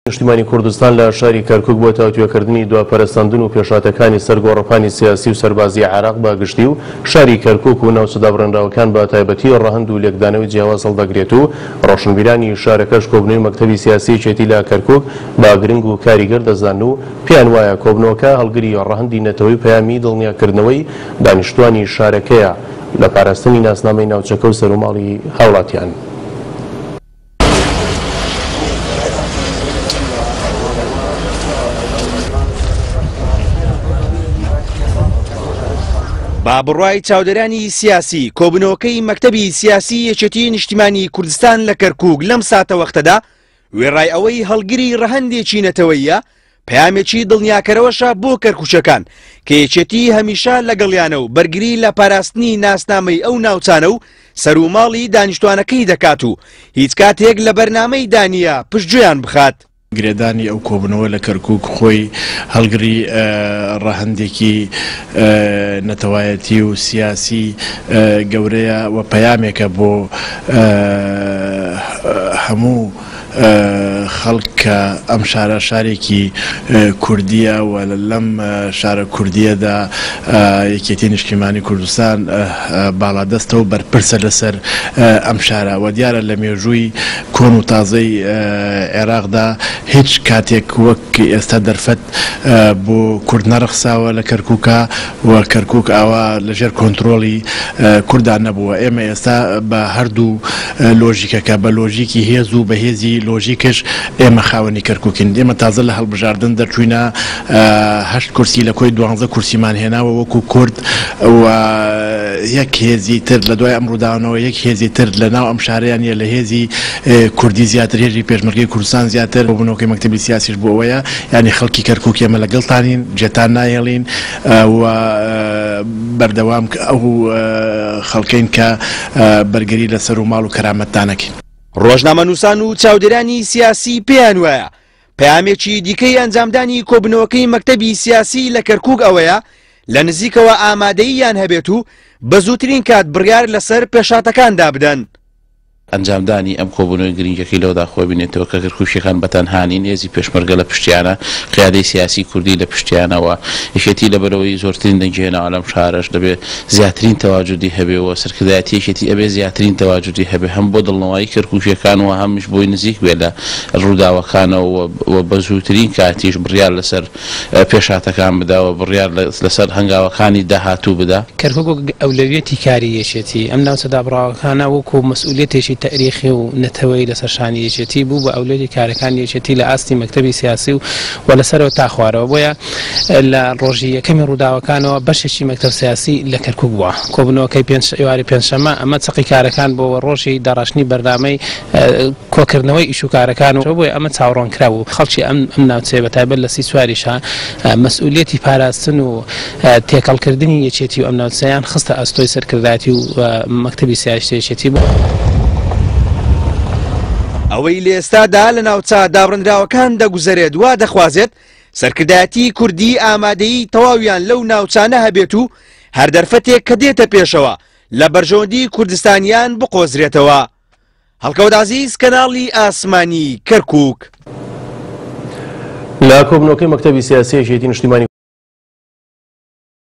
نیشتیمانی کوردستان لە شاری کەرکوک بۆ تاوتوێکردنی دوا پەرەسەندن و پێشهاتەکانی سەر گۆڕەپانی سیاسی و سەربازی عێراق بە گشتی و شاری کەرکوک و ناوچە دابڕێنراوەکان بە تایبەتی ڕەهەند و لێکدانەوەی جیاواز هەڵدەگرێت و ڕۆشنبیرانی شارەکەش کۆبنەوەی مەکتەبی سیاسی یەکێتی لە کەرکوک بە گرنگ و کاریگەر دەزانن و پێیان وایە کۆبنەوەکە هەڵگری ڕەهەندی نەتەوەی و پەیامی دڵنیاکردنەوەی دانیشتوانی شارەکەیە لە پاراستنی ناسنامەی ناوچەکە و سەروماڵی هاوڵاتیان. با بڕوای چاودێرانی سیاسی، کۆبوونەوەکەی مەکتەبی سیاسی یەکێتی نیشتیمانی کوردستان لە کەرکووک لەم ساتەوەختەدا وێڕای ئەوەی هەڵگری ڕەهەندێکی نەتەوەییە، پەیامێکی دڵنیاکەرەوەشە بۆ کەرکوکیەکان کە یەکێتی هەمیشە لەگەڵیانە و بەرگری لە پاراستنی ناسنامەی ئەو ناوچانە و سەروماڵی دانیشتوانەکەی دەکات و هیچ کاتێک لە بەرنامەیدا نییە پشتگوێیان بخات. گرێدانی ئەو کۆبوونەوە لە کەرکوک خۆی هەڵگری ڕەهەندێکی نەتەوایەتی و سیاسی گەورەیە و پەیامێکە بۆ هەموو خەڵک کە ئەم شارە شارێکی کوردییە و لەم شارە کوردییەدا یەکێتی نیشتیمانی کوردستان باڵادەستە و بەرپرسە لەسەر ئەم شارە و دیارە لە مێژووی کۆن و تازەی عێراقدا هیچ کاتێک وەک ئێستا دەرفەت بۆ کورد نەڕەخساوە لە کەرکوکا و کەرکوک ئاوا لەژێر کۆنترۆڵی کوردا نەبووە. ئێمە ئێستا بە هەردوو لۆژیکەکە، بە لۆژیکی هێز و بە هێزی لۆژیکش ئێمە خاوەنی کەرکوکین. ئێمە تازە لە هەڵبژاردن دەرچووینە، هەشت کورسی لە کۆی دوانزە کورسیمان هێناوە وەکو کورد و یەک هێزی تر لە دوای ئەم ڕووداوانەوە یەک هێزی تر لە ناو ئەم شارەیا نییە لە هێزی کوردی زیاتر، هێزی پێشمەرگەی کوردستان زیاتر. کۆبوونەوەکەی مەکتەبی سیاسیش بۆ ئەوەیە یانی خەڵکی کەرکوک ئێمە لەگەڵتانین، جێتان ناهێڵین و بەردەوام ئەو خەڵکەین کە بەرگری لە سەر و ماڵ و کەرامەتتان ئەکەین. ڕۆژنامەنووسان و چاودێرانی سیاسی پێیان وایە پەیامێکی دیکەی ئەنجامدانی کۆبوونەوەکەی مەکتەبی سیاسی لە کەرکوک ئەوەیە لە نزیکەوە ئامادەییان هەبێت و بە زووترین کات بڕیار لەسەر پێشهاتەکاندا بدەن. ئەنجامدانی ئەم کۆبوونەوەی گرنگەکەی لەوەدا خۆی بینێتەوە کە کەرکوکییەکان بە تەنها نین، هێزی پێشمەرگە لە پشتیانە، قیادەی سیاسی کوردی لە پشتیانە و یەکێتی لەبەرئەوەی زۆرترین دەنگی هێناوە لەم شارەش دەبێ زیاترین تەواجودی هەبێ و سەرکردایەتی یەکێتی ئەبێ زیاترین تەواجودی هەبێ هەم بۆ دڵنەوایی کەرکوکییەکان و هەمیش بۆی نزیک بێ لە ڕووداوەکانەوە و بە زووترین کاتیش بڕیار لەسەر پێشهاتەکان بدا و بڕیار لەسەر هەنگاوەکانی داهاتوو بدا. کەرکوک وەک ئەولەویەتی کاری یەکێتی، ئەم ناوچە دابڕاوەکانە وەکو مەسئولیەتێکی تەئریخی و نەتەوەیی لەسەر شانی یەکێتی بوو بە ئەولەویەتی کارەکانی یەکێتی لە ئاستی مەکتەبی سیاسی و و لە سەرەوە تا خوارەوە بۆیە لە ڕۆژی یەکەمی ڕووداوەکانەوە بەشێکی مەکتەب سیاسی لە کەرکوک بووە کۆبوونەوەکەی پێنج ئێوارەی پێنجشەممە ئەمە چەقی کارەکان بووە و ڕۆژی داڕشتنی بەرنامەی کۆکردنەوەی ئیش و کارەکان و بۆیە ئەمە چاوەڕوانکراو بوو. خەڵکی ئەم ئەم ناوچەیە بە تایبەت لە سیسواریشا مەسئولیەتی پاراستن و تێکەڵکردنی یەکێتی و ئەم ناوچەیان خستە ئەستۆی سەرکردایەتی و مەکتەبی سیاسی یەکێتی. ئەوەی لە ئێستادا لە ناوچە دابڕێنراوەکان دەگوزەرێت وا دەخوازێت سەرکردایەتی کوردی ئامادەیی تەواویان لەو ناوچانە هەبێت و هەر دەرفەتێک کە دێتە پێشەوە لە بەرژەوەندی کوردستانیان بقۆزرێتەوە. هەڵکەوت عەزیز کەناڵی ئاسمانی کەرکوک. لە کۆبنەوەکەی مەکتەبی سیاسی یەکێتی نیشتیمانی.